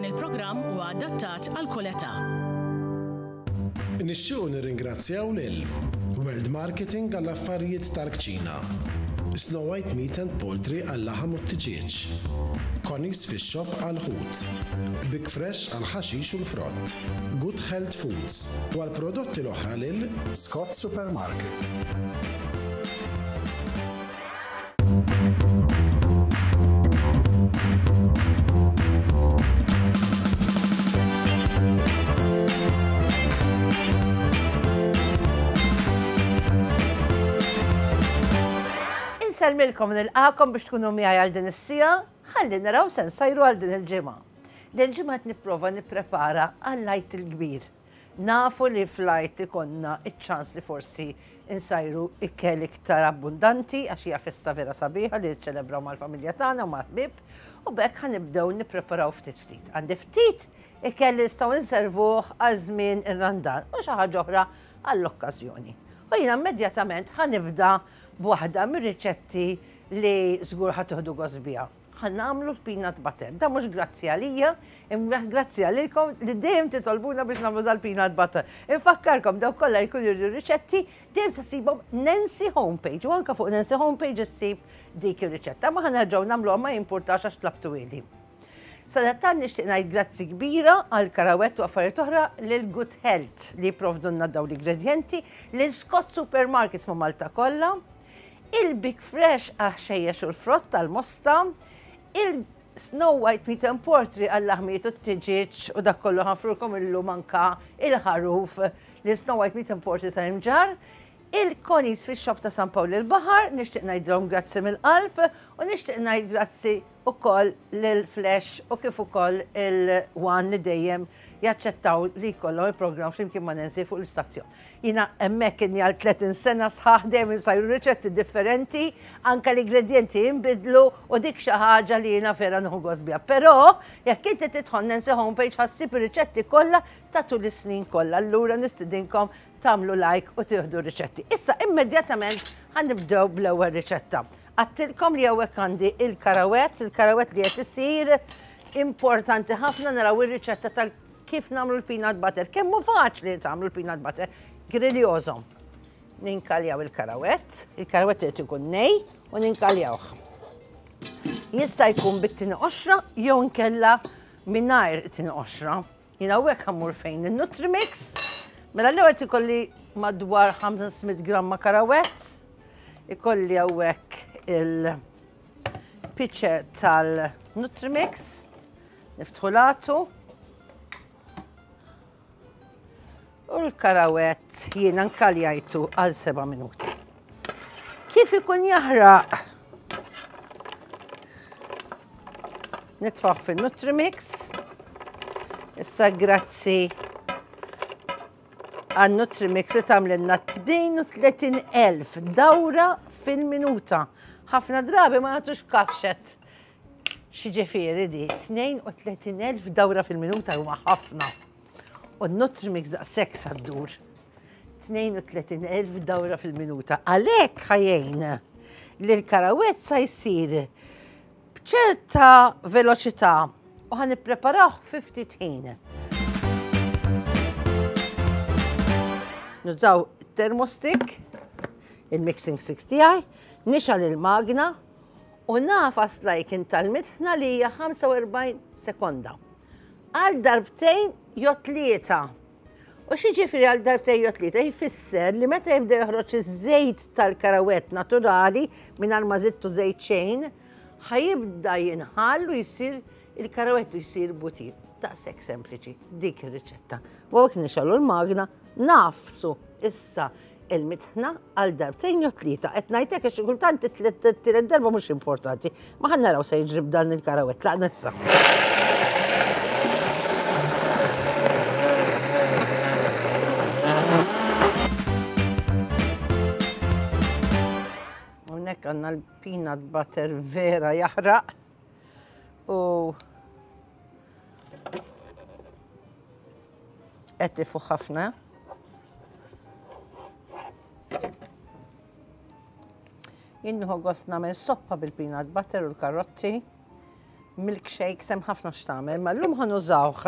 Dan il-programm huwa adattat għal kull età. Nixtiequ nirringrazzjaw lil World Marketing għall-affarijiet tal-kċina, Snow White Meat and Poultry għal-laħam u t-tiġieġ, Connie's Fish Shop għall-ħut, Big Fresh għall-ħaxix u l-frott, Good Health Foods u għall-prodotti l-oħra lil Scott Supermarket. Insellmilkom nilqakom biex tkunu miegħi għal din is-sija, ħalli naraw se nsajru għal din il-ġimgħa. Din il-ġimgħa qed nipprova nipprepara għall-Għid il-Kbir. Nafu li fl-Għid ikollna ċ-ċans li forsi nsajru ikel iktar abbundanti għax hija festa vera sabiħa li niċċelebraw mal-familja tagħna u mal-ħbieb u b'hekk ħa nibdew nippreparaw ftit ftit. Għandi ftit ikel li nistgħu nservuh għal żmien ir-Randan u xi ħaġa oħra għall-okkażjoni. U jiena immedjatament ħa nibda b'waħda mir-riċetti li żgur ħa tieħdu gost biha. Ħa nagħmlu l-peanut butter. Da mhux grazzi għalija, imma grazzi għalilkom li dejjem titolbuna biex nagħmlu dal-peanut butter. Infakkarkom dawk kollha jkunu jridu riċetti, dejjem se ssibhom Nancy Homepage u anke fuq Nancy Homepage issib dik ir-riċetta. Ma ħa nerġgħu nagħmluha ma jimpurtax għax tlabtuhieli. Sadattant nixtieq ngħid grazzi kbira għal karawett u affarijiet oħra lil Good Health li jipprovdulna dawn l-ingredjenti, lil Scott Supermarkets ma' Malta kollha, il-Big Fresh għall-ħxejjex u l-frott tal-mosta, il-Snow White Meat and Poultry għall-laħmijiet u t-tiġieġ u dak kollu ħanfrulkom illum anka il-ħaruf li Snow White Meat and Poultry tal-Imġarr, il-Connie's Fish Shop ta' San Pawl il-Baħar, nixtieq ngħidilhom grazzi mill-qalb u nixtieq ngħid grazzi ukoll lil Flash u kif ukoll il-One li dejjem jaċċettaw li jkollhom il-programm flimkien ma' Nancy fuq l-istazzjon. Jiena hemmhekk inni għal 30 sena sħaħ dejjem insajru riċetti differenti, anke l-ingredjenti jinbidlu u dik xi ħaġa li jiena vera nieħu gost biha. Però jekk inti tidħol Nancy homepage ħa ssib ir-riċetti kollha ta' tul is-snin kollha. Allura nistidinkom tagħmlu like u tieħdu r-riċetti. Issa immedjatament ħa nibdew bl-ewwel riċetta. Għattilkom li hawnhekk għandi il-karawett, il-karawett li qed isir importanti ħafna naraw ir-riċetta tal kif nagħmlu l-peanut butter. Kemm hu faċli tagħmlu l-peanut butter. Griljożhom. Ninkaljaw il-karawett, il-karawett irid ikun nej u ninkaljawh. Jista' jkun bit-tieni qoxra jew inkella mingħajr it-tieni qoxra. Jien hawnhekk ħammur fejn il-Nutrimix. Mela l-ewwel ikolli madwar 500 gramma karawett. Ikolli hawnhekk il-pitcher tal-Nutrimix. Niftħu l-għatu. U l-karawett jiena nkaljajtu għal seba' minuti. Kif ikun jaħraq? Nitfaħ fin-Nutrimix. Issa grazzi għan Nutrimix li tagħmlilna 32,000 dawra fil-minuta. Ħafna drabi ma nagħtux kaxxet X'jiġifieri di? 32,000 dawra fil-minuta huma ħafna. U n-Nutrimix daqshekk sa ddur. 32,000 dawra fil-minuta. Għalhekk ħajjejn li l-karawett sa jsir b'ċerta veloċità u ħan nippreparawh fi ftit ħin. Nużaw termostik, il-mixing stick tiegħi, nixgħal il-magna U nagħfas l-icon tal-mitħna li hija 45 sekonda. Għal darbtejn jew tlieta. U x'jiġifieri għal darbtejn jew tlieta? Jfisser li meta jibda joħroġ iż-żejt tal-karawett naturali mingħajr ma żidtu żejt xejn, ħa jibda jinħall u jsir il-karawett u jsir butir. Daqshekk sempliċi dik ir-riċetta. U hawnhekk nixgħelu l-magna, nagħfsu issa il-mitħna għal darbtejn jew tlieta. Qed ngħid hekk għax xi kultant it-tielet darba mhux importanti. Ma ħa naraw se jiġri b'dan il-karawett. Tlaqna issa. Hawnhekk għandna l-peanut butter vera jaħraq u qed ifuħ ħafna. Jien nieħu gost nagħmel soppa bil-peanut butter u l-karotti. Milkshakes hemm ħafna x'tagħmel, ma llum ħa nużawh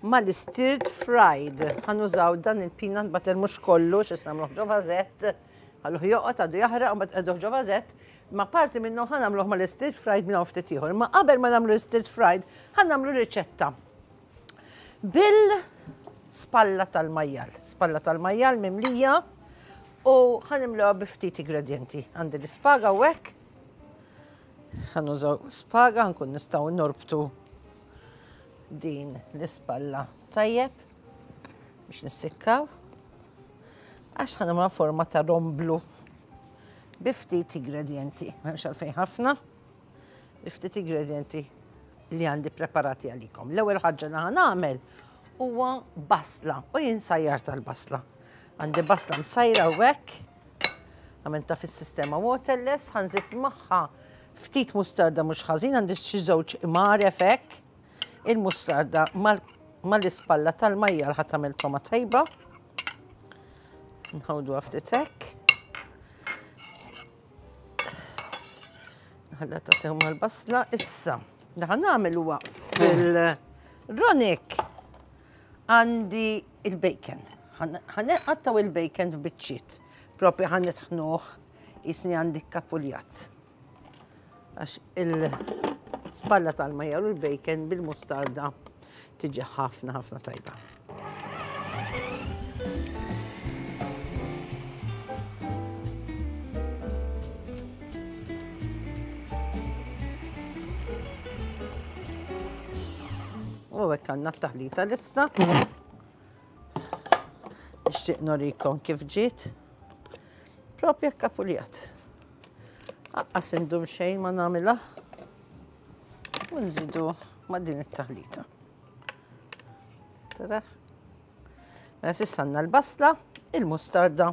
mal-stirred fried. Ħa nużaw dan il-peanut butter mhux kollu x'issa nagħmluh ġo vażett, ħalluh joqgħod għadu jaħraq u mbagħad qegħduh ġo vażett, ma parti minnu ħa nagħmluh mal-stirred fried minn hawn ftit ieħor. Ma qabel ma nagħmlu l-stirred fried ħa nagħmlu riċetta bil-spalla tal-majjal. Spalla tal-majjal mimlija u ħa nimluha bi ftit ingredjenti. Għandi l-ispaga u hekk. Ħa nużaw spaga nkun nistgħu norbtu din l-ispalla tajjeb biex nissikkaw. Għax ħa nagħmluha forma ta' romblu bi ftit ingredienti, m'hemmx għalfejn ħafna, bi ftit ingredienti li għandi preparati għalikom. L-ewwel ħaġa li ħa nagħmel huwa basla u jien sajjar tal-basla. Għandi basla msajra u hekk Għamilta fis-sistema waterless, ħanżid magħha ftit mustarda mhux ħażin, għandi xi żewġ imgħaref hekk. Il-mustarda mal-ispalla tal-majjal ħa tagħmel toma tajba. Nħawdu ftit hekk. Nħalla ta' sew mal-basla issa. Daħan nagħmel huwa fil-ronik Għandi il-bacon. Ħa nqattgħu il-bacon f'biċċiet. Propju ħa nitħnuh jisni għandi kapuljat. Għax il-spalla tal-majjal u l-bacon bil-mustarda tiġi ħafna ħafna tajba. U hekk għandna t-taħlita lesta. Nixtieq norikom kif ġiet. Propja kapuljat. Aqqas indum xejn ma nagħmilha. U nżidu ma' din it-taħlita. Tara? Mela s'issa għandna l-basla, il-mustarda.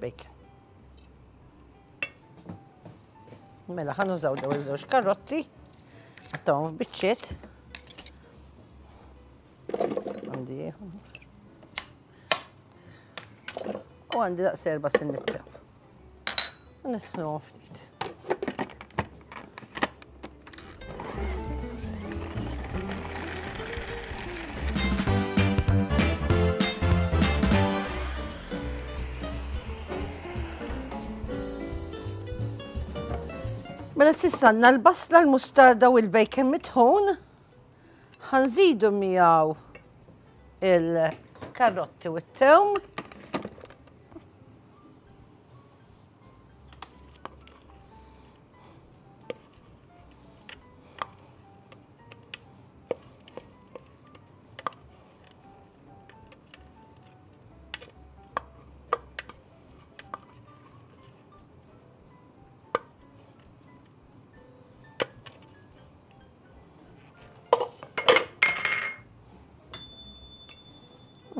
Bacon. Mela ħa nużaw daw iż-żewġ karotti, qattawhom f'biċċiet. Għandi U għandi daqs erba' sinnitta. U nitħnuhom ftit. Mela s'issa għandna l-basla, l-mustarda u l-bacon mitħun. Ħanżidu miegħu il-karotti u t-tewm.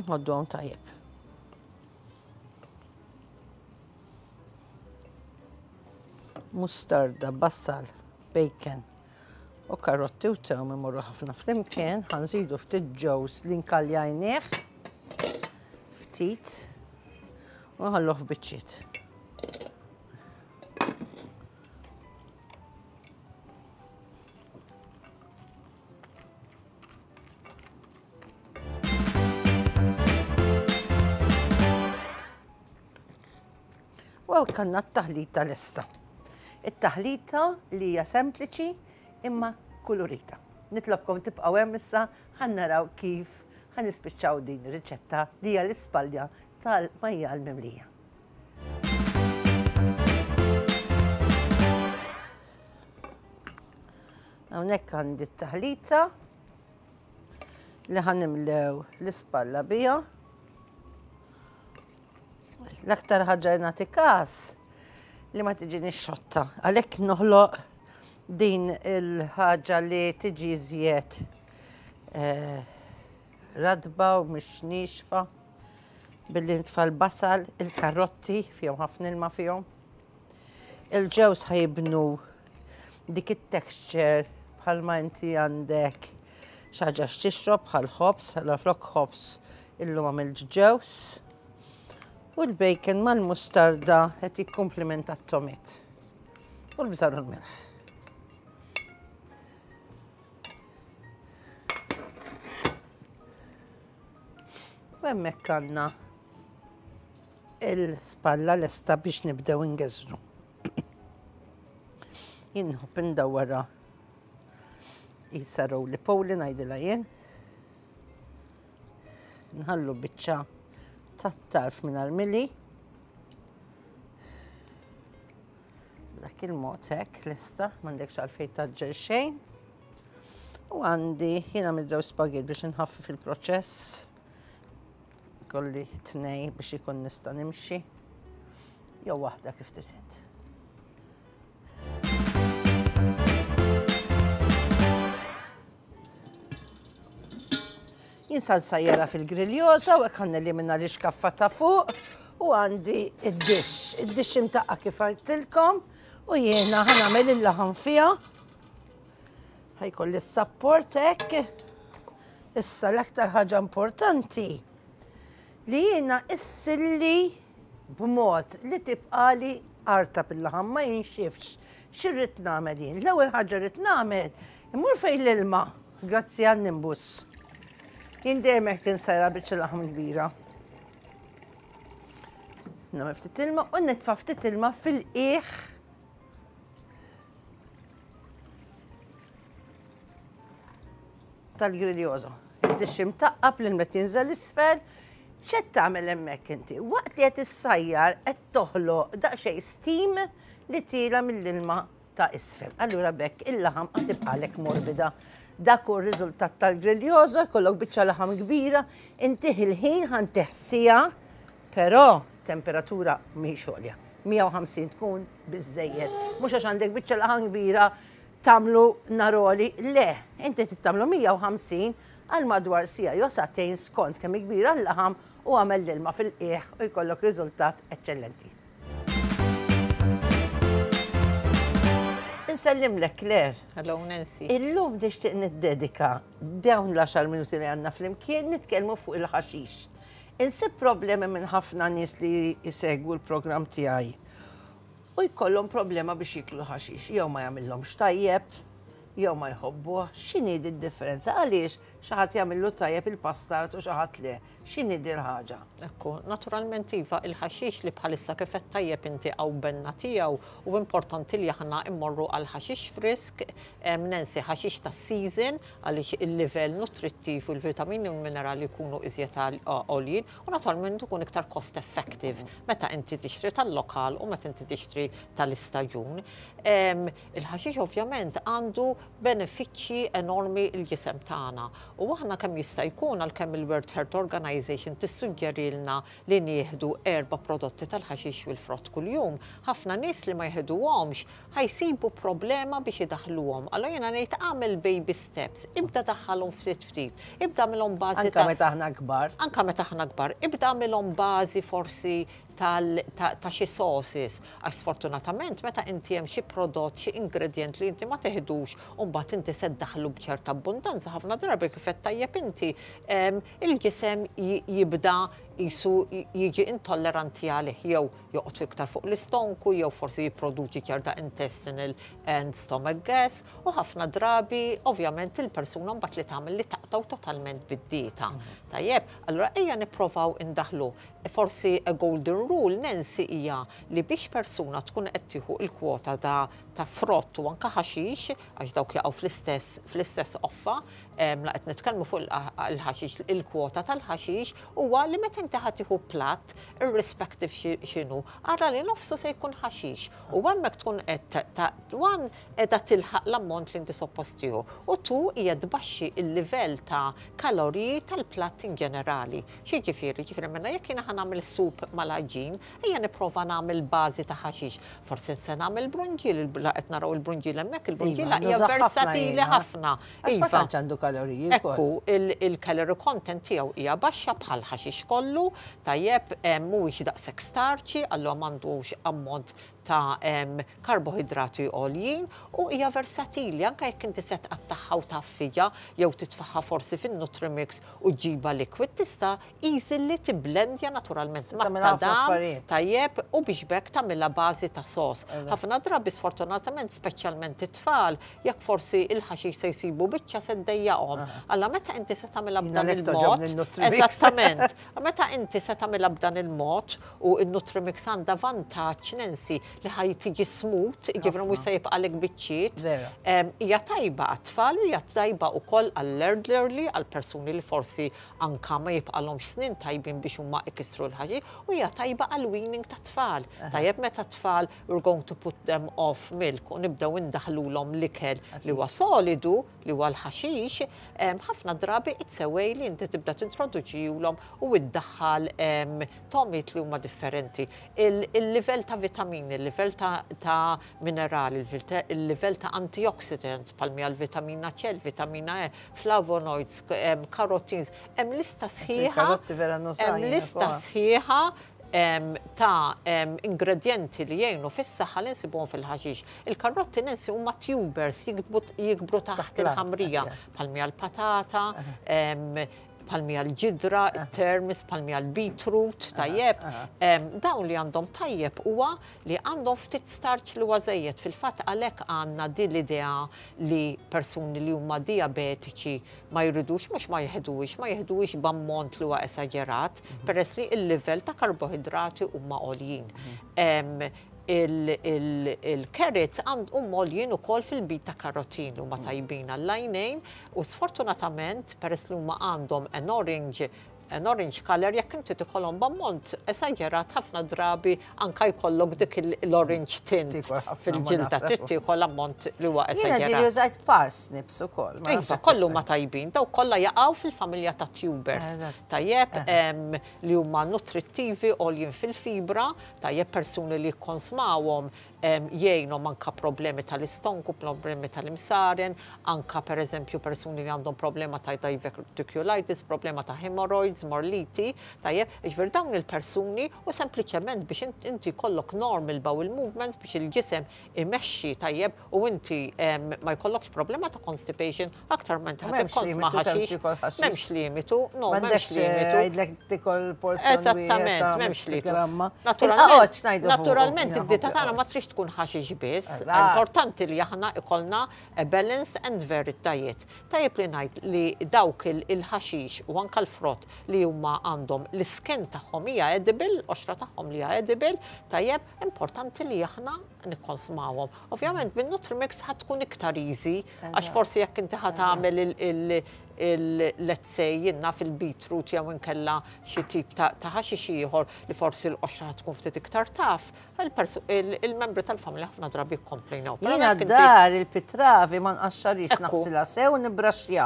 Nħoddhom tajjeb. Mustarda, basal, bacon u karotti u tewm imorru ħafna flimkien, ħanżidu ftit ġewż li nkaljajnieh ftit u nħalluh f'biċċiet. U hawn kanna t-taħlita lesta. It-taħlita li hija sempliċi imma kulurita. Nitlobkom tibqgħu hemm issa ħa naraw kif ħa nispiċċaw din ir-riċetta li hija l-ispalja tal-majjal mimlija. Hawnhekk għandi t-taħlita li ħanimlew l-ispalla biha. L-aktar ħaġa li nagħti każ li ma tiġini xotta. Għalhekk noħloq din il-ħaġa li tiġi iżjed eh, radba u mhix nixfa billi nitfa' l-basal, il-karotti fihom ħafna ilma fihom. Il-ġewż ħajibnu dik it-texture bħalma inti għandek xi ħaġa x'tixrob bħal ħobż, allura flok ħobż illum għamilt ġewż. U l-bacon mal-mustarda qed jikkumplimenta t-tomit. U l-bżar u l-melħ. U hemmhekk għandna il-spalla lesta biex nibdew ingeżru. Jien nħobb indawwarha qisha roly poly ngħidilha jien. Nħallu biċċa tat-tarf mingħajr mili. Dak il-mod hekk lesta, m'għandekx għalfejn taġġel xejn. U għandi jiena mid-żewġ spaghetti biex nħaffif il-proċess. Kolli tnej biex ikun nista' nimxi. Jew waħda kif trid int. Jien sa nsajjarha fil-griljosa u hekk ħa nelimina l-ixkaffa ta' fuq u għandi id-dixx. Id-dixx imtaqqa kif għidtilkom u jiena ħa nagħmel il-laħam fiha. Ħajkolli s-sapport hekk. Issa l-aktar ħaġa importanti li jiena issilli b'mod li tibqali artab il-laħam ma jinxifx. X'irrid nagħmel jien? L-ewwel ħaġa rrid nagħmel immur fejn l-ilma grazzi għal Nimbus. Jien dejjem hekk insajra biċċa laħam kbira. Nagħmel ftit ilma u nitfa' ftit ilma fil-qiegħ tal-griljoso. Id-dixx imtaqqab l meta jinżel isfel, x'qed tagħmel hemmhekk inti? Waqt li qed issajjar qed toħloq daqsxejn steam li tiela mill-ilma ta' isfel. Allura b'hekk il-laħam qed tibqalek morbida. Dak hu r-riżultat tal-griljoso, jkollok biċċa laħam kbira, intih il-ħin ħantih siegħa, però temperatura mhix għolja. 150 tkun biżejjed. Mhux għax għandek biċċa laħam kbira tagħmlu naroli, le, inti trid tagħmlu 150 għal madwar siegħa jew sagħtejn skont kemm kbira l-laħam u għamel l-ilma fil-qiegħ u jkollok riżultat eċċellenti. Insellimlek Claire. Hello Nancy. Illum nixtieq niddedika dawn l-10 minuti li għandna flimkien nitkellmu fuq il-ħaxix. Insib problemi minn ħafna nies li jsegwu l-programm tiegħi u jkollhom problema biex jiklu ħaxix, jew ma jagħmilhomx tajjeb, jew ma jħobbuh. X'inhi d-differenza? Għaliex xi ħadd jagħmillu tajjeb il-pastard u xi ħadd le? X'inhi din il-ħaġa? Ekku, naturalment iva, il-ħaxix li bħalissa kif għedt tajjeb inti hawn benna tiegħu u importanti li aħna mmorru għal ħaxix frisk, Nancy, ħaxix tas-season għaliex il-livell nutrittiv u l-vitamini u l-minerali jkunu iżjed għoljin u naturalment ikun iktar cost effective meta inti tixtri tal-lokal u meta inti tixtri tal-istaġun. Il-ħaxix ovvjament għandu benefiċċji enormi l-ġisem tagħna u aħna kemm jista' jkun għalkemm il-World Health Organization tissuġġerilna li nieħdu erba' prodotti tal-ħaxix u l-frott kuljum, ħafna nies li ma jeħduhomx ħa jsibu problema biex idaħħluhom. Allura jiena ngħid agħmel baby steps, ibda daħħalhom ftit ftit, ibda agħmilhom bażi ta' Anke meta aħna kbar. Anke meta aħna kbar, ibda agħmilhom bażi forsi tal ta' xi sauces, għax sfortunatament meta inti hemm xi prodott, xi ingredient li inti ma teħdux u mbagħad inti se ddaħħlu b'ċerta abbundanza, ħafna drabi kif għedt tajjeb inti, il-ġisem jibda qisu jiġi intolleranti għalih jew joqgħod iktar fuq l-istonku jew forsi jipproduċi ċerta intestinal and stomach gas u ħafna drabi ovvjament il-persuna mbagħad li tagħmel li taqtgħu totalment bid-dieta. Tajjeb, allura ejja nipprovaw indaħħlu Forsi a golden rule, Nancy, hija li biex persuna tkun qed tieħu l-kwota ta' ta' frott u anke ħaxix, għax dawk jaqgħu fl-istess fl-istess qoffa, la qed nitkellmu fuq il-ħaxix, il-kwota tal-ħaxix huwa li meta inti ħa tieħu platt, irrespective x'inhu, ara li nofsu se jkun ħaxix u hemmhekk tkun qed ta' one qiegħda tilħaq l-ammont li inti suppost tieħu u two hija tbaxxi l-livell ta' kaloriji tal-platt in ġenerali. X'jiġifieri? Jiġifieri mela jekk jiena ħa nagħmel soup mal-għaġin, ejja nipprova nagħmel bażi ta' ħaxix. Forsi se nagħmel brunġiel, la qed naraw il-brunġiel hemmhekk, il-brunġiela hija versatili ħafna. Għax ma tantx għandu kaloriji. Ekku, il-calorie content tiegħu hija baxxa bħal ħaxix kollu, tajjeb, mhuwiex daqshekk starċi, allura m'għandux ammont ta' karboħidrati għoljin u hija versatili anke jekk inti se tqattagħha u tgħaffiġha jew titfagħha forsi fin-Nutrimix u ġġibha liquid tista' easily tibblendja naturalment mat-tadam tajjeb u biex b'hekk tagħmilha bażi ta' sos. Ħafna drabi sfortunatament speċjalment it-tfal jekk forsi il-ħaxix se jsibu biċċa se ddejjaqhom. Alla meta inti se tagħmilha b'dan il-mod. Eżattament. Meta inti se tagħmilha b'dan il-mod u n-Nutrimix għandha vantaġġ Nancy li ħaj tiġi smooth, jiġifieri mhux se jibqalek biċċiet. Hija tajba għat-tfal u hija tajba wkoll għall-elderly, għall-persuni li forsi anka ma jibqalhomx snin tajbin biex huma ikissru l-ħaxix u hija tajba għall-weaning tat-tfal. Tajjeb meta t-tfal we're going to put them off milk u nibdew indaħħlulhom l-ikel li huwa solidu, li huwa l-ħaxix, ħafna drabi it's a way li inti tibda tintroduċihulhom u iddaħħal togħmiet li huma differenti. Il-livell ta' vitamini, il-livell ta' minerali, il-livell ta' antioxidants bħal mija l-vitamina C, il-vitamina E, flavonoids, carotene, hemm lista sħiħa. Hemm lista sħiħa ta' ingredienti li jgħinu fis-saħħa li nsibuhom fil-ħaxix. Il-karrotti Nancy huma tubers jikbru taħt il-ħamrija bħal mija l-patata, bħal mija l-ġidra, il-turnips, bħal mija l-beetroot, tajjeb. Dawn li għandhom tajjeb huwa li għandhom ftit starch li huwa żejjed. Fil-fatt għalhekk għandna din l-idea li persuni li huma diabetiċi ma jridux, mhux ma jeħduhiex, ma jeħduhiex b'ammont li huwa esaġerat, peress li il-livell ta' karbohidrati huma għoljin. Il-carrots huma għoljin ukoll fil-beta carotene huma tajbin għall-għajnejn u sfortunatament peress li huma għandhom an orange color, jekk inti tikolhom b'ammont esaġerat ħafna drabi anka jkollok dik l-orange tint fil-ġilda, trid tiekol ammont li huwa esaġerat. Jiena użajt parsnips ukoll. Iva, kollu ma tajbin, daw kollha jaqgħu fil-familja ta' tubers. Tajjeb, li huma nutrittivi, għoljin fil-fibra, tajjeb, persuni li jikkonsmawhom jgħinhom anka problemi tal-istonku, problemi tal-imsaren, anka per eżempju persuni li għandhom problema ta' diverticulitis, problema ta' hemorrhoids, morliti, tajjeb, jiġifieri dawn il-persuni u sempliċement biex inti jkollok normal bowel movements biex il-ġisem imexxi tajjeb u inti ma jkollokx problema ta' constipation aktar minn ta' tikkonsma ħaxix. M'hemmx limitu, no, m'hemmx limitu. Għidlek tikol porzjon. Eżattament, m'hemmx limitu. Naturalment, id-dieta tagħna ma trix tkun ħaxix biss. Importanti li aħna ikollna a balanced and varied diet. Tajjeb li ngħid li dawk il-ħaxix u anka l-frott li huma għandhom l-skin tagħhom hija edible, qoxra tagħhom li hija edible, tajjeb, importanti li aħna nikkonsmawhom. Ovvjament bin-Nutrimix ħa tkun iktar easy, għax forsi jekk inti ħa tagħmel il- let's say jiena fil-beetroot jew inkella xi tip ta' ħaxix ieħor li forsi l-qoxra tkun ftit iktar taf, il-membri tal-familja ħafna drabi jikkomplejnaw. Jiena d-dar il-pitravi ma nqaxxarix, naħsilha sew nibraxxja.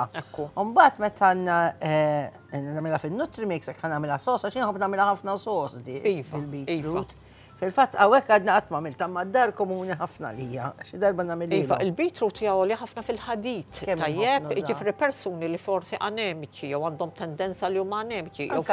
Mbagħad meta nagħmilha fin-Nutrimix, jekk nagħmilha sos, għax jien nagħmilha ħafna sos di il-beetroot. Fil-fatt hawnhekk għadna qatt ma għamilta ma d-dar komuni ħafna lija. Xi darba nagħmel. Iva, il-beetroot hija għoli ħafna fil-ħadid. Tajjeb, jiġifieri persuni li forsi anemiċi jew għandhom tendenza li huma anemiċi. Jew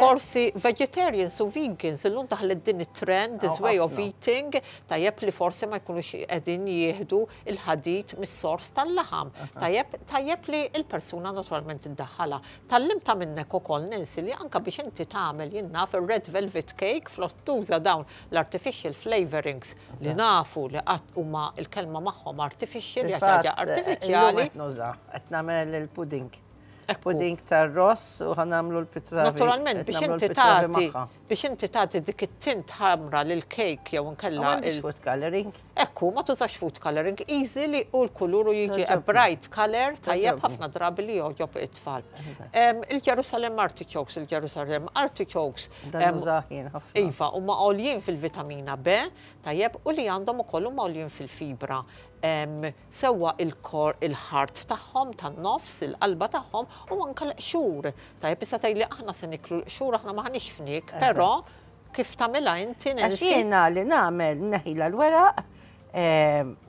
forsi vegetarians u vegans, illum daħlet din it-trend, this way of eating, tajjeb, li forsi ma jkunux qegħdin jieħdu il-ħadid mis-sors tal-laħam. Tajjeb, tajjeb li il-persuna naturalment iddaħħala. Tgħallimtha minnek ukoll, Nancy, li anka biex inti tagħmel jiena red velvet cake flok tuża dawn l-artificial flavorings li nafu li qatt huma il-kelma magħhom artificial, ħaġa artificiali. Qed nagħmel il-pudding. Pudding tar-ross u ħa nagħmlu l-pitravi. Naturalment, biex inti tagħti dik it-tint ħamra lil cake jew inkella. Food coloring. Ekku, ma tużax food coloring, easy li u l-kulur u jiġi a bright color, tajjeb, ħafna drabi li joġob it-tfal. Il-Jerusalem artichokes, il-Jerusalem artichokes. Iva, huma għoljin fil-vitamina B, tajjeb, u li għandhom ukoll huma għoljin fil-fibra. Sewwa il-core, il-heart tagħhom tan-nofs, il-qalba tagħhom u anka l-qxur. Tajjeb, issa tgħidli aħna se niklu l-qxur, aħna m'aħniex fnik, però kif tagħmilha inti? Għax jiena li nagħmel neħila l-weraq,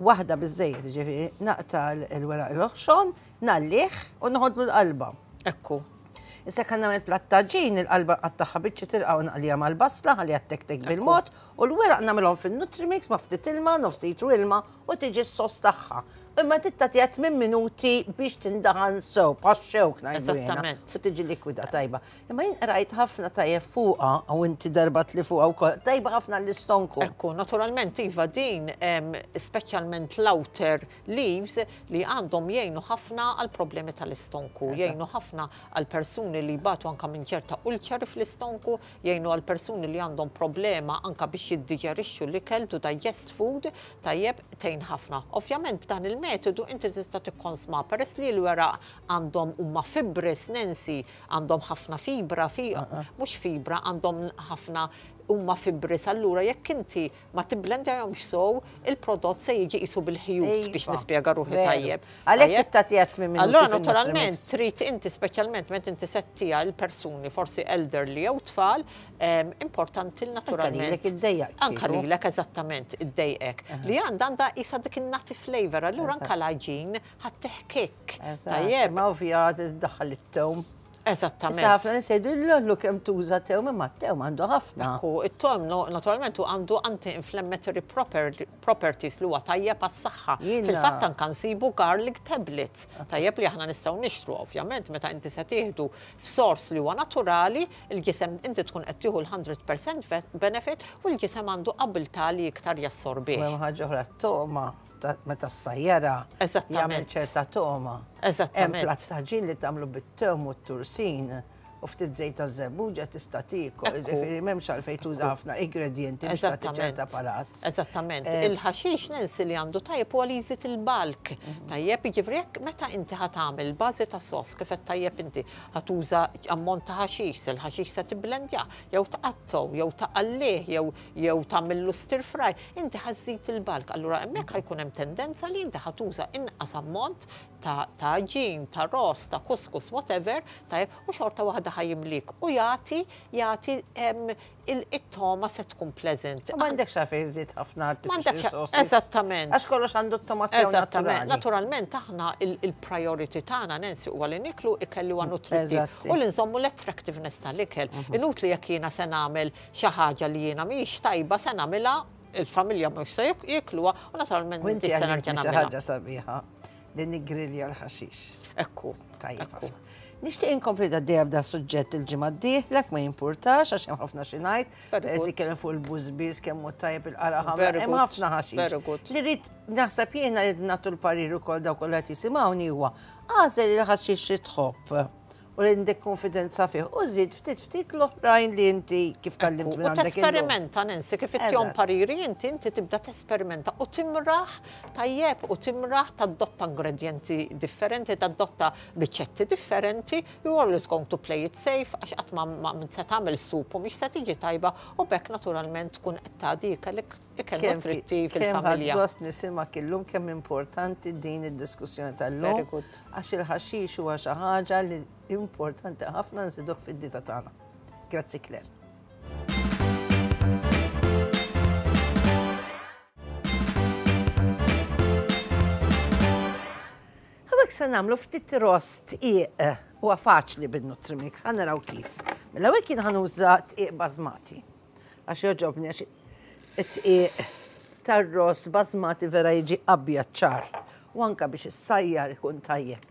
waħda biżejjed, ġifieri naqta l-weraq l-oħxon, ngħallih u noħodlu l-qalba. Ekku. Issa kan nagħmel platt taġin, il-qalba nqattagħha biċċiet irqaq u naqliha mal-basla ħalliha ttektek bil-mod u l-weraq nagħmilhom fin-Nutrimix ma' ftit ilma, nofs litru ilma u tiġi s-sos tagħha. Imma trid tagħtiha tmien minuti biex tindaħan sew, bħax-xewk ngħidu jiena. U tiġi likwida tajba. Imma jien qrajt ħafna tajjeb fuqha, u inti darbat li fuqha wkoll, tajba ħafna għall-istonku. Ekku, naturalment iva din, speċjalment l-outer leaves li għandhom jgħinu ħafna għal problemi tal-istonku, jgħinu ħafna għal persuni li jbatu anka minn ċerta ulċeri fl-istonku, jgħinu għal persuni li għandhom problema anka biex jiddiġerixxu l-ikel, to digest food, tajjeb, tgħin ħafna. Ovvjament b'dan il-metodu inti tista' tikkonsma peress li l-weraq għandhom huma fibres, Nancy, għandhom ħafna fibra, mhux fibra, għandhom ħafna huma fibres, allura jekk inti ma tibblendjahomx sew, il-prodott se jiġi qisu bil-ħjut biex iva, nispjega ruħi tajjeb. Għalhekk trid tagħtiha tmien minuti. Allura naturalment trid inti speċjalment meta inti settiha l-persuni forsi elderly jew tfal, importanti naturalment. Anka lilek iddejjaq. Anka lilek eżattament iddejqek. Li għandha għandha qisha dik in-nutty flavor, allura anka l-għaġin ħa teħkik. Tajjeb. Ma ovvja tiddaħħal it-tewm. Eżattament. Issa ħafna nies jgħidu l-lollu kemm tuża tewm imma t-tewm għandu ħafna. Ekku, it-tewm naturalment hu għandu anti-inflammatory properties li huwa tajjeb għas-saħħa. Fil-fatt anke nsibu garlic tablets, tajjeb li aħna nistgħu nixtru ovvjament meta inti se tieħdu f'sors li huwa naturali, il-ġisem inti tkun qed tieħu l-100% benefit u l-ġisem għandu abiltà li iktar jassorbih. U hemm ħaġa oħra, t-togħma meta ssajjarha jagħmel ċerta togħma. Eżattament. Hemm platt taġin li tagħmlu bit-tewm u t-tursin u ftit żejt ta' żebbuġa tista' tiekol, jiġifieri m'hemmx għalfejn tuża ħafna ingredjenti biex tagħti ċerta palat. Eżattament. Eh, Il-ħaxix Nancy li għandu tajjeb huwa li jżid il-balk. Mhm. Tajjeb, jiġifieri jekk meta inti ħa tagħmel bażi ta' sos kif qed tajjeb inti ħa tuża ammont ta' ħaxix, se l-ħaxix se tibblendja, jew tqattgħu, jew taqallih, jew jew tagħmillu stir fry, inti ħa żżid il-bulk. Allura hemmhekk ħa jkun hemm tendenza li inti ħa tuża inqas ammont ta' ta' għaġin, ta' ross, ta' couscous, whatever, tajjeb, u xorta waħda ħa jimlik u jagħti jagħti it-togħma se tkun pleasant. U m'għandekx għalfejn iżżid ħafna artificial sauces. Eżattament. Għax kollox għandu t-togħma tiegħu naturali. Naturalment aħna il-priority tagħna Nancy huwa li nieklu ikel li huwa nutrittiv u li nżommu l-attractiveness tal-ikel. Inutli jekk jiena se nagħmel xi ħaġa li jiena mhijiex tajba se nagħmilha, il-familja mhux se jiekluha u naturalment m'intix se nerġa' nagħmilha. Xi ħaġa sabiħa li niggrilja l-ħaxix. Ekku. Tajjeb ħafna. Nixtieq inkompli għaddejja b'da suġġett il-ġimgħa d-dieħla ma jimpurtax għax hemm ħafna xi ngħid. Qed nitkellem fuq il-bużbiż kemm hu tajjeb il-qara ħamra, hemm ħafna ħaxix. Li rrid naħseb jiena li nagħtu l-parir ukoll dawk kollha qed jisimgħuni huwa għażel il-ħaxix li tħobb. u li għandek konfidenza fih u żid ftit ftit l-oħrajn li inti kif tgħallimt minn għandek. U tesperimenta Nancy kif ittihom pariri inti inti tibda tesperimenta u timraħ tajjeb u timraħ tadotta ingredjenti differenti, tadotta riċetti differenti, you always going to play it safe għax qatt ma se tagħmel sup u mhix se tiġi tajba u b'hekk naturalment tkun qed tagħti ikel Ikel nutrittiv fil-familja. Kemm gost nisimgħek illum kemm importanti din id-diskussjoni tal-lum. Għax il-ħaxix huwa xi ħaġa li importanti ħafna nżiduh fid-dieta tagħna. Grazzi Claire. Hawnhekk se nagħmlu ftit rost tqiq huwa faċli bin-Nutrimix, ħa naraw kif. Mela hawnhekk jien ħa nuża tqiq basmati. Għax jogħġobni għax it-tqiq tar-ross basmati vera jiġi abjad ċar. U anka biex issajjar ikun tajjeb.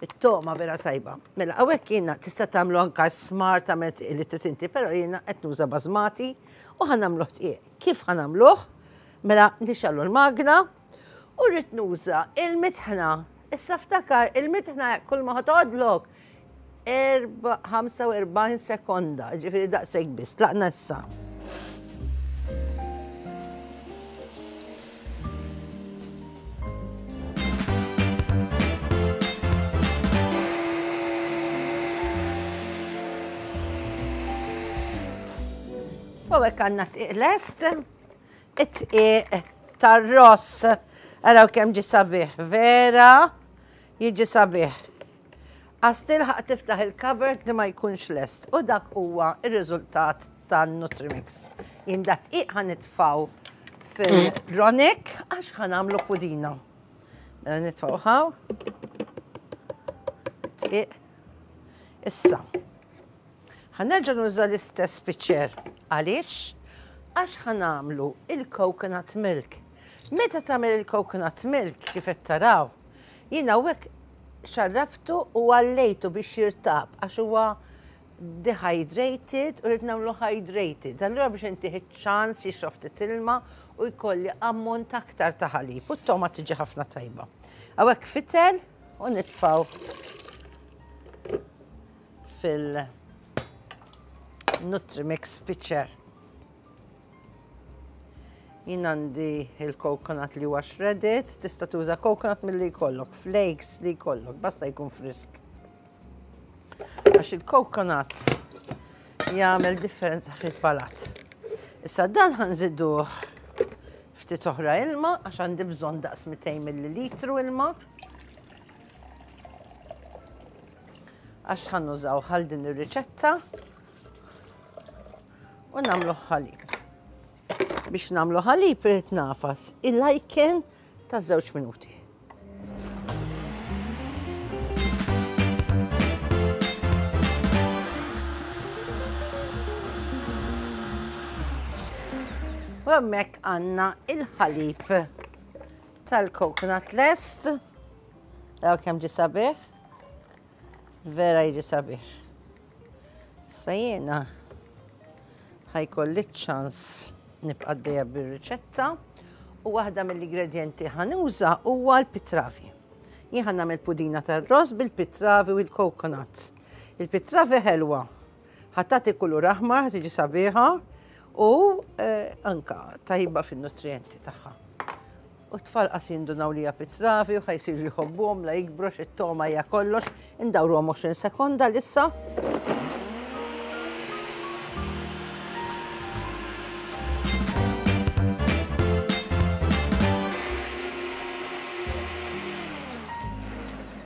It-togħma vera tajba. Mela hawnhekk jiena tista' tagħmlu anka s-smar tagħmel tqiq li trid inti, però jiena qed nuża basmati u ħa nagħmluh tqiq. Kif ħa nagħmluh? Mela nixgħallu l-magna u rrid nuża il-mitħna. Issa ftakar il-mitħna kull ma ħa toqgħodlok 45 sekonda, ġifieri daqshekk biss, tlaqna issa. U hekk għandna tqiq lest, it-tqiq tar-ross. Araw kemm ġi sabiħ, vera jiġi sabiħ. Għas tilħaq tiftaħ il-cupboard li ma jkunx lest u dak huwa r-riżultat tan-Nutrimix. Jien da tqiq ħa nitfgħu fil-ronik għax ħa nagħmlu pudina. Mela nitfgħu ħaw. Tqiq. Issa. Ħa nerġa' nuża l-istess pitcher. Għaliex? Għax ħa nagħmlu il-coconut milk. Meta tagħmel il-coconut milk kif qed taraw, jien hawnhekk xarrabtu u għallejtu biex jirtab għax huwa dehydrated u rrid nagħmlu hydrated. Allura biex intih iċ-ċans jixrob ftit ilma u jkolli ammont aktar ta' ħalib u t-toma tiġi ħafna tajba. Hawnhekk fitel u nitfgħu fil Nutrimix pitcher. Jien għandi il-coconut li huwa shredded, tista' tuża coconut milli jkollok, flakes li jkollok, basta jkun frisk. Għax il-coconut jagħmel differenza fil-palat. Issa dan ħanżiduh ftit oħra ilma għax għandi bżonn daqs 200 millilitru ilma. Għax ħa nużaw għal din ir-riċetta u nagħmlu ħalib. Biex nagħmlu ħalib irid nafas il-lajken ta' żewġ minuti. U hemmhekk għandna il-ħalib tal-coconut lest. Raw kemm ġie sabiħ. Vera jiġi sabiħ. Issa jiena ħajkolli ċans nibqa' għaddejja bir-riċetta u waħda mill-ingredjenti ħanuża huwa l-pitravi. Jien ħa nagħmel pudina tar-ross bil-pitravi u l-coconut. Il-pitravi ħelwa, ħa tagħti kulur aħmar, ħa tiġi sabiħa u eh, anka tajba fin-nutrijenti tagħha. U t-tfal qas jindunaw li hija pitravi u ħa jsiru jħobbuhom la jikbru għax it-togħma hija kollox. Indawruhom 20 sekonda lissa.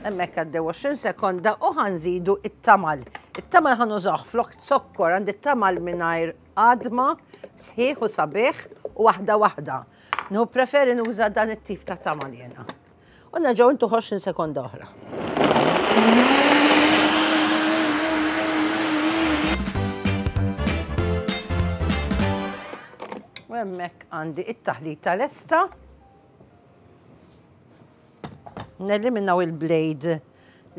Hemmhekk għaddew 20 sekonda u ħa nżidu it-tamal. It-tamal ħa nużawh flok zokkor għandi t-tamal mingħajr għadma, sħiħ u sabiħ u waħda waħda. Nhu preferi nuża dan it-tip ta' tamal jiena. U nerġgħu intu 20 sekonda oħra. U hemmhekk għandi it-taħlita lesta. Neliminaw il-blade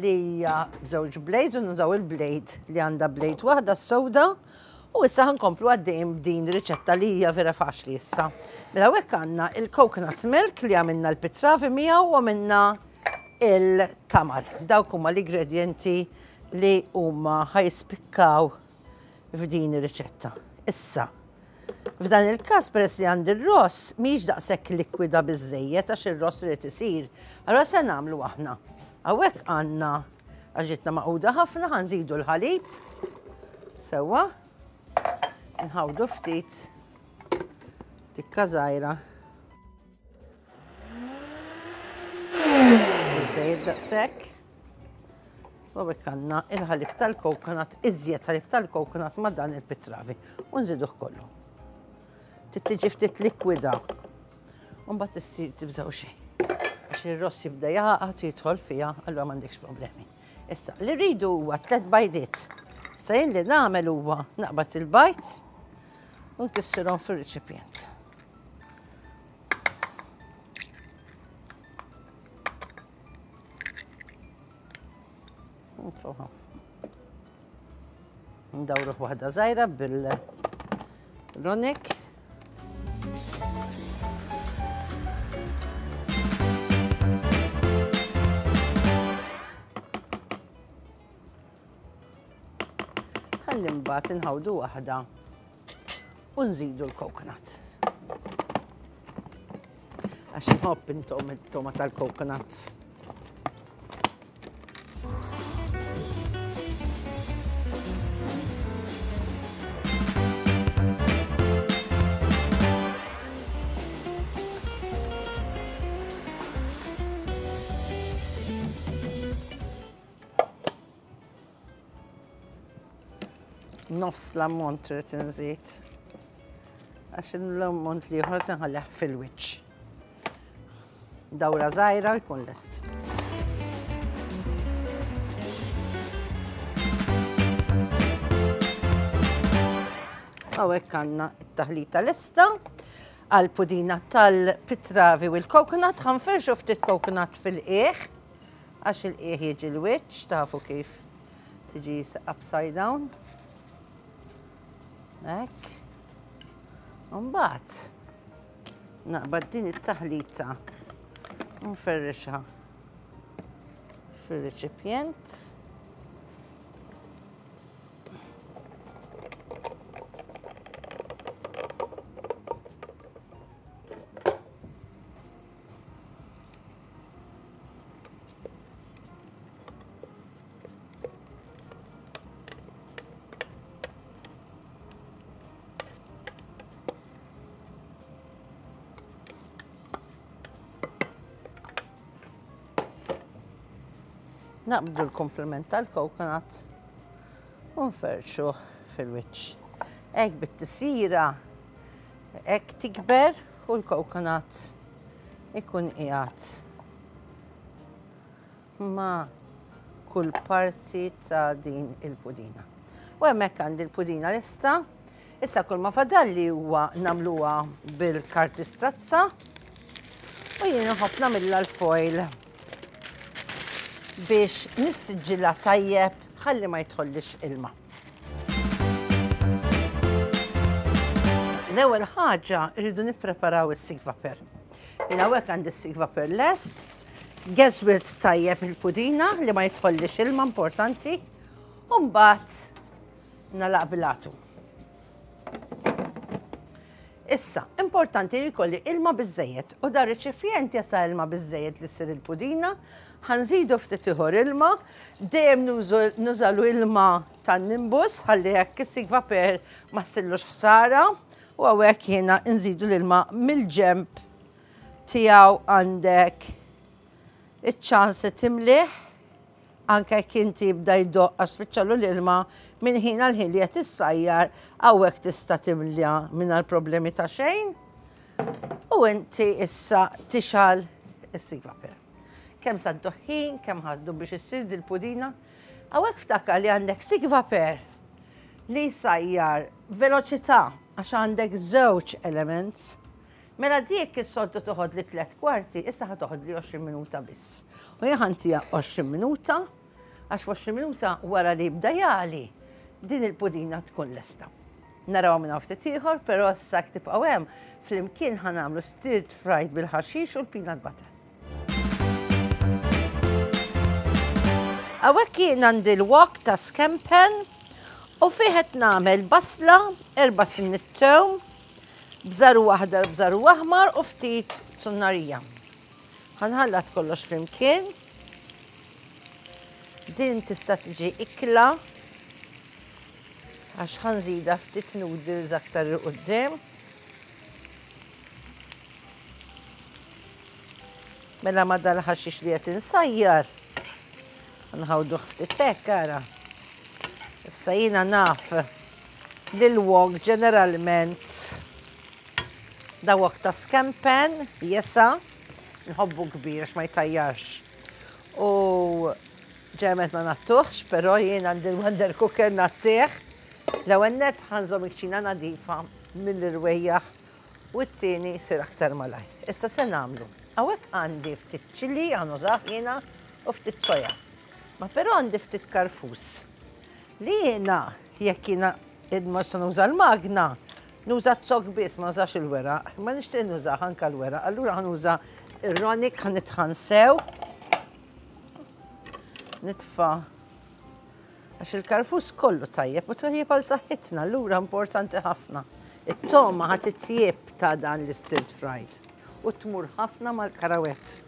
li hija b'żewġ blades u nużaw il-blade li għandha blade waħda s-sewda u issa ħankomplu għaddejjin b'din riċetta li hija vera faċli issa. Mela hekk għandna il-coconut milk li għamilna l-pitravi miegħu u għamilna il-tamal. Dawk huma l-ingredienti li huma ħajspikkaw f'din ir-riċetta. Issa, f'dan il-każ peress li għandi r-ross mhijiex daqshekk likwida biżżejjed għax ir-ross irid isir. Allura se nagħmlu aħna. Hawnhekk għandna għax ġietna maquda ħafna ħa nżidu l-ħalib. Sewwa. Nħawdu ftit tikka żgħira. Biżżejjed daqshekk. U hekk għandna il-ħalib tal-coconut, iżjed ħalib tal-coconut ma' dan il-pitravi. U nżiduh kollu. Tittiġi ftit likwida. U mbagħad issir tibżgħu xejn. Għax ir-ross jibda jaqgħad u jidħol fiha, allura m'għandekx problemi. Issa, li rridu huwa tlet bajdiet. Issa jien li nagħmel huwa naqbad il-bajd u nkissirhom fir-riċipjent. Nitfuha. Ndawruh waħda żgħira bil-ronik. Ħalli mbagħad inħawdu waħda u nżidu l-coconut. Għax nħobb intom it-toma tal-coconut. Nofs l-ammont trid inżid. Għax l-ammont li ieħor tinħallih fil-wiċċ. Dawra żgħira jkun lest. Hawnhekk għandna t-taħlita lesta għal pudina tal-pitravi u l-coconut. Ħa nferrxu ftit coconut fil-qiegħ għax il-qiegħ jiġi l-wiċċ, tafu kif tiġi upside down. Hekk. Mbagħad naqbad din it-taħlita u nferrixha fir-reċipjent. Naqbdu l-komplement tal-coconut u nferrxuh fil-wiċċ. Hekk bit-tisira hekk tikber u l-coconut ikun qiegħed ma' kull parti ta' din il-pudina. U hemmhekk għandi l-pudina lesta. Issa kull ma fadalli huwa nagħmluha bil-karti strazza u jien nħobb nagħmilha l-foil biex nissiġġilha tajjeb ħalli ma jidħollix ilma. L-ewwel ħaġa rridu nippreparaw is-sikvaper. Jien hawnhekk għandi s-sikvaper lest, geżwirt tajjeb il-pudina li ma jidħollix ilma importanti, u mbagħad nagħlaq bil-għatu. Issa, importanti li jkolli ilma biżżejjed u dar reċipjent jasa ilma biżżejjed li ssir il-pudina, ħa nżidu ftit ieħor ilma, dejjem nużalu ilma tan-nimbus ħalli hekk is-sikvaper ma ssillux ħsara u hawnhekk jiena nżidu l-ilma mill-ġenb tiegħu għandek iċ-ċans li timlih Anke jekk inti jibda jdoqq għax spiċċalu l-ilma, minn ħin għal ħin li qed issajjar, hawnhekk tista' timla mingħajr problemi ta' xejn. U inti issa tixgħal is-sivaper. Kemm sa ħin, kemm ħaddu biex issir dil-pudina. Hawnhekk ftakar li għandek sigvaper li jsajjar veloċità għax għandek żewġ elements. Mela dik is-soltu toħodli tlett kwarti, issa ħa toħodli 20 minuta biss. U jien ħa ntiha 20 minuta, għax f'20 minuta wara li jibda jagħli, din il-pudina tkun lesta. Narawha minn hawn ftit ieħor, però issa jekk tibqgħu hemm, flimkien ħa nagħmlu stirred fried bil-ħaxix u l-peanut butter. Hawnhekk jien għandi l-wok ta' scampen u fih qed nagħmel basla, erba' sinniet tewm, Bżar u aħdar, bżar u aħmar u ftit zunnarija. Ħa nħallat kollox flimkien. Din tista' tiġi ikla għax ħa nżida ftit noodles aktar 'il quddiem. Mela ma dal-ħaxix li qed insajjar. Nħawduh ftit hekk ara. Issa jiena naf li l-wok ġeneralment da wok ta' scampen, jesa, nħobbu kbir għax ma jtajjarx. U ġeneralment ma nattuħx, però jien għandi l-Wonder Cooker nattih. L-ewwel nett ħa nżomm il-kċina nadifa mill-irwejjaħ u t-tieni jsir aktar malajr. Issa se nagħmlu. Hawnhekk għandi ftit ċili ħa nużah jiena u ftit soja. Ma però għandi ftit karfus. Li jiena jekk jiena ma se nuża l-magna, nuża z-zokk biss, ma nużax il-weraq. Ma nixtieq nużah anke l-weraq, allura ħa nuża ir-ronik ħa nitħan sew. Nitfa' Għax il-karfus kollu tajjeb u tajjeb għal saħħitna, allura importanti ħafna. It-togħma ħa titjieb ta' dan l-stirred fried u tmur ħafna mal-karawett.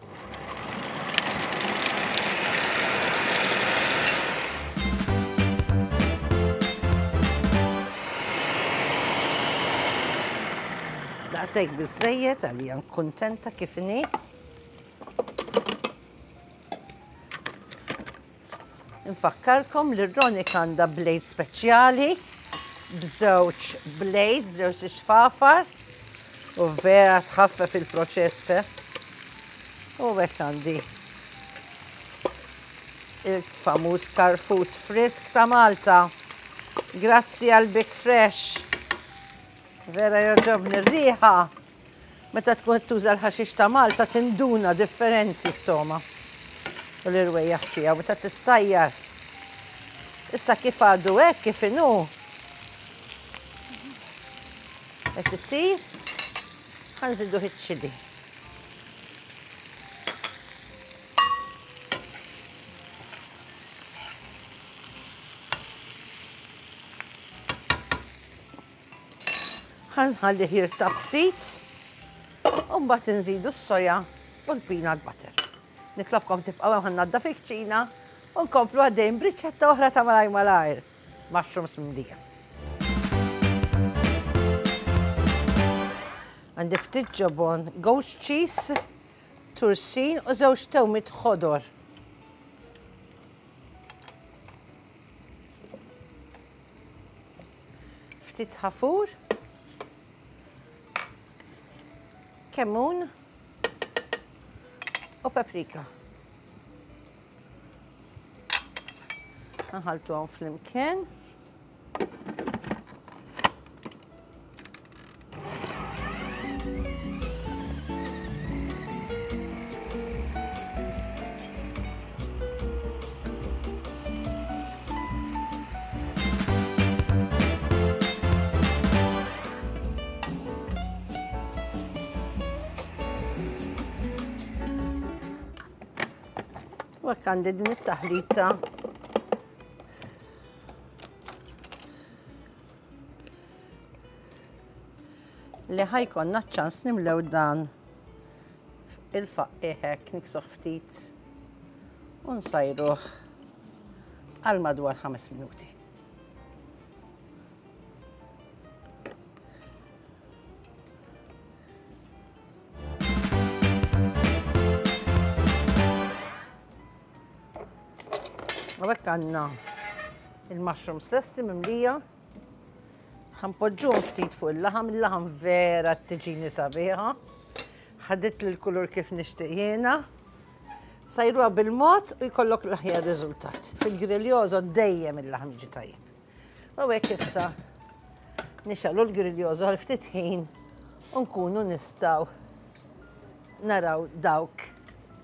Daqshekk biżżejjed għalija kuntenta kif inhi. Infakkarkom li r-Ronik għandha blade speċjali b'żewġ blades, żewġ ixfafar u vera tħaffef il-proċess. Eh? U hekk għandi il-famuż karfus frisk ta' Malta. Grazzi għal Big Fresh. Vera jogħġobni r-riħa. Meta tkun qed tuża l-ħaxix ta' Malta tinduna differenti t-togħma u l-irwejjaħ tiegħu meta tissajjar. Issa kif għadu hekk kif inhu qed isir ħa nżiduh iċ-ċili. Ħa nħallih jirtab ftit u mbagħad inżidu s-soja u l-peanut butter. Nitlobkom tibqgħu hemm ħa nnaddaf il-kċina u nkomplu għaddejjin b'riċetta oħra ta' malajr malajr, mushrooms mimlija. Għandi ftit ġobon, goat cheese, tursin u żewġ tewmiet ħodor. Ftit ħafur, kemmun u paprika. Nħaltu għom flimkien. U hekk għandi din it-taħlita li ħajkonna ċans nimlew dan il-faqqi hekk niksuh ftit u nsajruh għal madwar 5 minuti. U hekk għandna il-mushrooms lesti mimlija. Ħanpoġġuhom ftit fuq il-laħam, il-laħam vera tiġini sabiħa. Ħadit l-kulur kif nixtieq jiena. Sajruha bil-mod u jkollok l-aħjar riżultat. Fil-griljoso dejjem il-laħam jiġi tajjeb. U hekk issa nixgħelu l-griljoso għal ftit ħin u nkunu nistgħu naraw dawk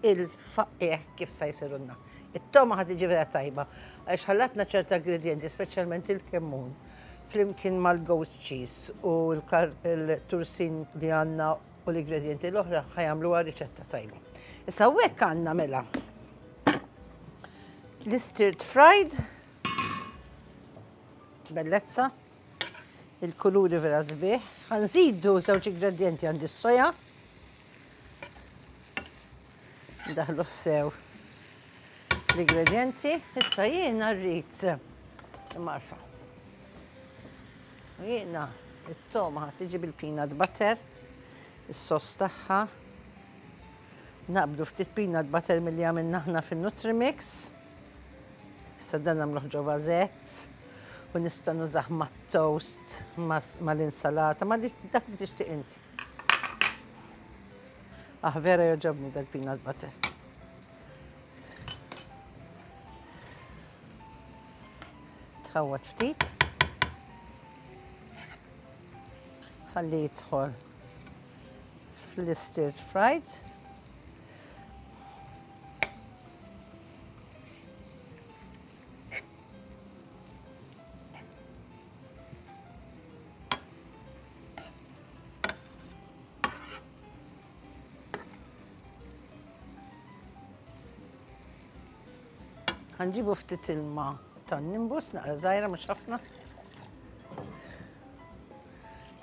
il-faqqiegħ kif sa jsirulna. It-togħma ħa tiġi vera tajba għaliex ħallatna ċerta ingredjenti, speċjalment il-kemmun, flimkien mal-ghost cheese u l-tursin li għandna u l-ingredjenti l-oħra ħa jagħmluha riċetta tajba. Issa hawnhekk għandna mela l-stirred fried bellezza, il-kuluri vera sbieħ. Ħa nżidu żewġ ingredjenti għandi s-soja. Ndaħlu sew l-ingredienti. Issa jiena rrid marfa. Jiena it-toma tiġi bil-peanut butter, is-sos tagħha. Naqbdu ftit peanut butter milli għamilna aħna fin-Nutrimix. Issa dan nagħmluh ġo vażett u nista' nużah mat-toast, mal-insalata, ma' dak li tixtieq inti. Ah, vera jogħġobni dal-peanut butter. Tħawwad ftit. Ħalli jidħol fl-stirred fried. Ħanġibu ftit ilma tan-nimbus, naqra żgħira mhux ħafna.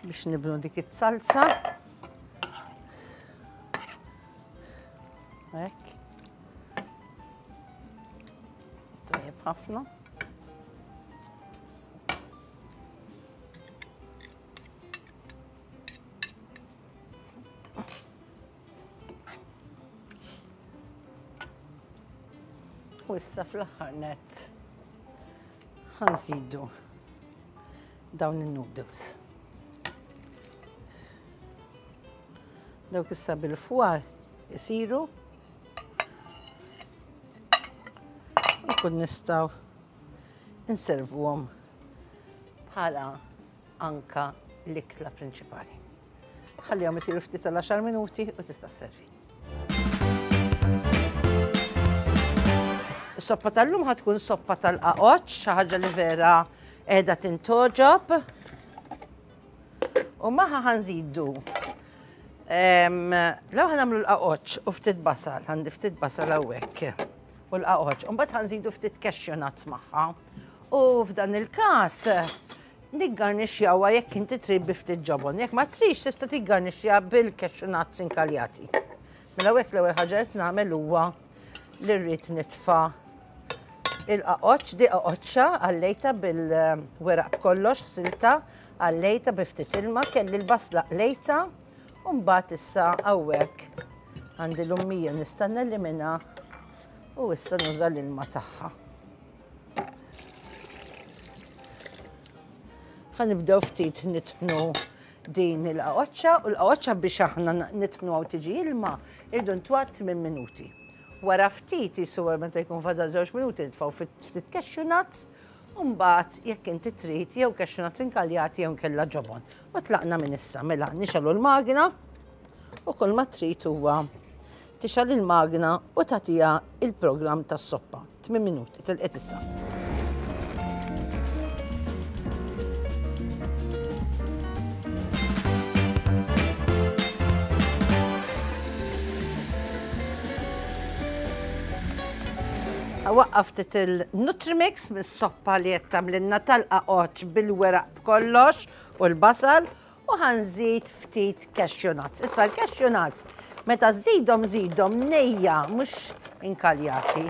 Biex nibnu dik it-salsa. Hekk. Tajjeb ħafna. U issa fl-aħħar nett ħanżidu dawn in-noodles. Dawk issa bil-fwar isiru Nkun nistgħu inservuhom bħala anka l-ikla prinċipali. Ħallihom isiru ftit tal-10 minuti u tista' sservi. Is-soppa tal-lum ħa tkun soppa tal-qaqoċ, xi ħaġa li vera qiegħda tintoġob. U maħa ħanżidu Law ħanamlu l-qaqoċ u ftit basal, għandi ftit basal hawnhekk u l-qaqoċ. U mbagħad ħanżidu ftit cashew nuts magħha. U f'dan il-każ niggarnixxjawha jekk inti trid bi ftit ġobon. Jekk ma trix tista' tiggarnixxja bil-cashew nuts inkaljati. Mela hekk l-ewwel ħaġa qed nagħmel huwa li rrid nitfa' il-qaqoċ, di qaqoċċa għallejta bil-weraq b'kollox, ħsilta, għallejta bi ftit ilma, kelli l-basla qlejta, u mbagħad issa hawnhekk għandi l-ummija nista' nelimina u issa nuża l-ilma tagħha. Ħa nibdew ftit nitħnu din il-qaqoċċa u l-qaqoċċa biex aħna nitħnu għaw tiġi ilma irdu ntwat minn minuti. Wara ftit jisu meta jkun fadal żewġ minuti nitfgħu ftit cashew nuts u mbagħad jekk inti trid jew cashew nuts inkaljati jew nkella ġobon. U tlaqna minn issa mela nixgħelu l-magna u kull ma trid huwa tixgħal il-magna u tagħtiha il-programm tas-soppa. 8 minuti, telqet issa. Waqqaf ftit il-Nutrimix mis-soppa li qed tagħmlilna tal-qaqoċ bil-weraq b'kollox u l-basal u ħa nżid ftit cashew nuts. Issa l-cashew nuts meta żżidhom żidhom nejja mhux inkaljati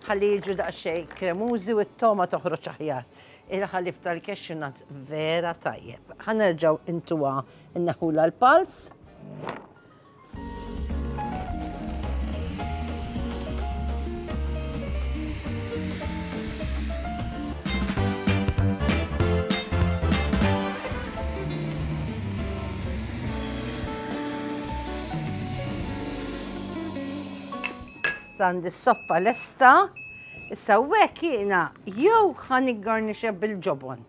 ħalli jiġu daqsxejn kremużi u t-togħma toħroġ aħjar. Il-ħalib tal-cashew nuts vera tajjeb. Ħa nerġgħu intuha nneħħulha l-pals. Issa għandi s-soppa lesta. Issa hekk jiena jew ħa niggarnixxa bil-ġobon.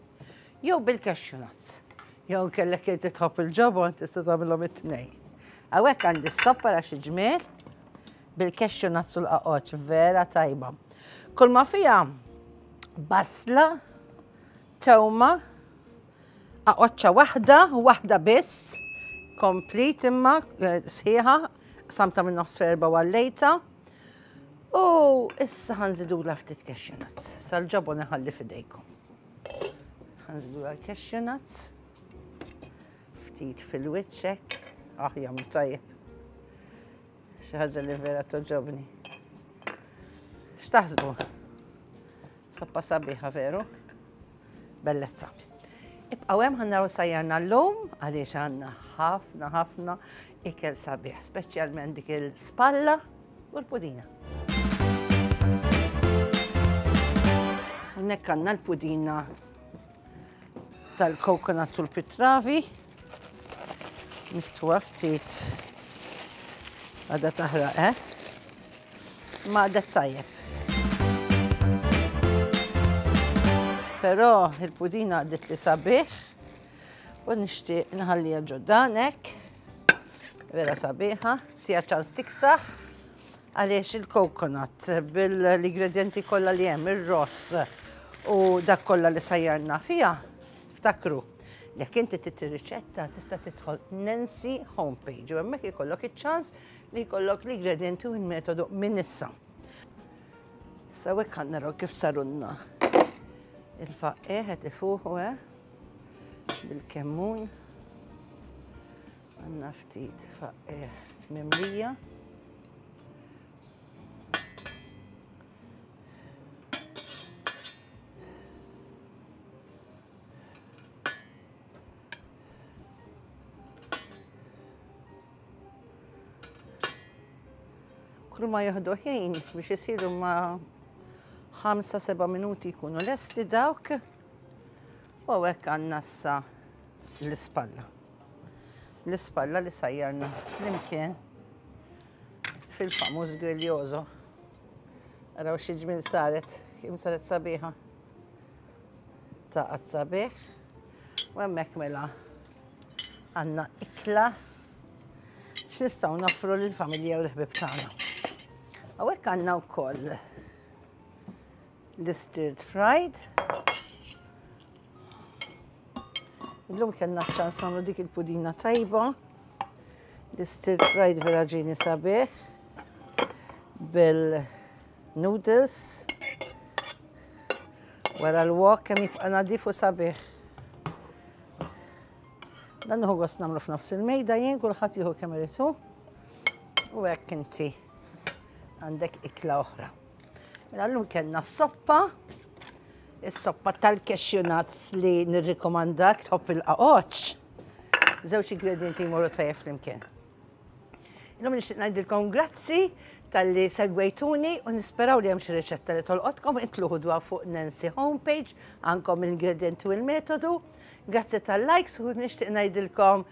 Jew bil-cashew nuts. Jew kellek inti tħobb il-ġobon tista' tagħmilhom it-tnejn. Hawnhekk għandi s-soppa ra xi ġmiel bil-cashew nuts u l-qaqoċ vera tajba. Kull ma fiha basla, tewma, qaqoċċa waħda, waħda biss, komplit imma eh, sħiħa, samta minn nofs ferba għallejta. U issa ħanżidula ftit cashew nuts. Sal-ġobon iħalli fidejkom. Ħanżidu l-cashew nuts. Ftit fil-wiċċek. Ah, jam tajjeb. Xi ħaġa li vera toġobni. X'taħsbu? Soppa sabiħa veru? Bellezza. Ibqgħu hemm ħa naraw sajjarna llum għaliex għandna ħafna ħafna ikel sabiħ, speċjalment dik il-spalla u l-pudina. Hawnhekk għandna l-pudina tal-coconut u l-pitravi. Niftuha ftit għadha taħraq, eh? Ma għadet tajjeb. Però il-pudina għadet li sabiħ u nixtieq nħallija ġoddanek. Vera sabiħa, tija ċans tiksaħ għaliex il-coconut bil-ingredienti kollha li hemm, ir-ross u dak kollha li sajjarna fiha, ftakru, jekk inti trid ir-riċetta tista' tidħol Nancy homepage u hemmhekk ikollok iċ-ċans li jkollok l-ingredienti u l-metodu minn issa. Issa hekk ħa naraw kif sarunna il-faqqieħ qed ifuħu eh bil-kemmun. Għanna ftit faqqieħ mimlija. Kull ma jieħdu ħin biex isiru ma' 5-7 minuti jkunu lesti dawk. U hekk għandna issa l-ispalla. L-ispalla li sajjarna flimkien fil-famuż griljoso. Araw xi ġmiel saret, kemm saret sabiħa. Taqgħad sabiħ. U hemmhekk mela. Għandna ikla x'nistgħu noffru lill-familja u l-ħbieb tagħna. Hawnhekk għandna wkoll l-stirred fried. Illum kellna ċans nagħmlu dik il-pudina tajba. L-stirred fried vera ġieni sabiħ bil-noodles. Wara l-wok kemm jibqa' nadif u sabiħ. Dan nieħu gost nagħmlu f'nofs il-mejda jien kulħadd jieħu kemm irid hu. U hekk inti għandek ikla oħra. Mela llum kellna s-soppa, is-soppa tal-cashew nuts li nirrikomandak tħobb il-qaqoċ. Żewġ ingredienti jmorru tajjeb flimkien. Illum nixtieq ngħidilkom grazzi talli segwejtuni u nisperaw li hemm xi riċetta li tolqotkom intlu ħudwa fuq Nancy homepage għandkom l-ingredienti u l-metodu. Grazzi tal-likes u nixtieq ngħidilkom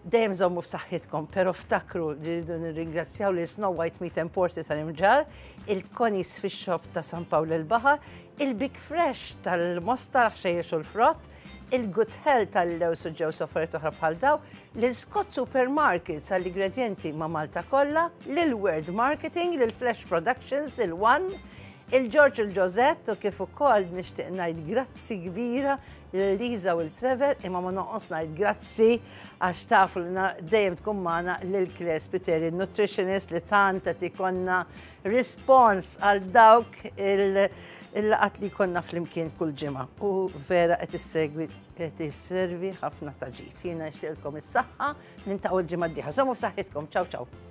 dejjem żommu f'saħħitkom, però ftakru li rridu nirringrazzjaw lil Snow White Meat and Porti tal-Imġarr, il-Connie's Fish Shop ta' San Pawl il-Baħar, il-Big Fresh tal-Mosta ħxejjex u l-frott, il-Good Health tal-lews u ġews affarijiet oħra bħal daw, lil Scott Supermarkets għall-ingredjenti ma' Malta kollha, lil World Marketing, lil Flash Productions, il-One, il-George u l-Josette u kif ukoll nixtieq ngħid grazzi kbira lil Liza u l-Trevor imma ma noqos ngħid grazzi għax tafu li dejjem tkun magħna lil Claire Spiteri, nutritionist li tant qed ikonna rispons għal dawk il-laqat li konna flimkien kull ġimgħa u vera qed issegwi qed isservi ħafna ta' ġid. Jiena nixtieqilkom is-saħħa, nintaqgħu l-ġimgħa d-dieħla. Żommu f'saħħitkom. Ciao ciao.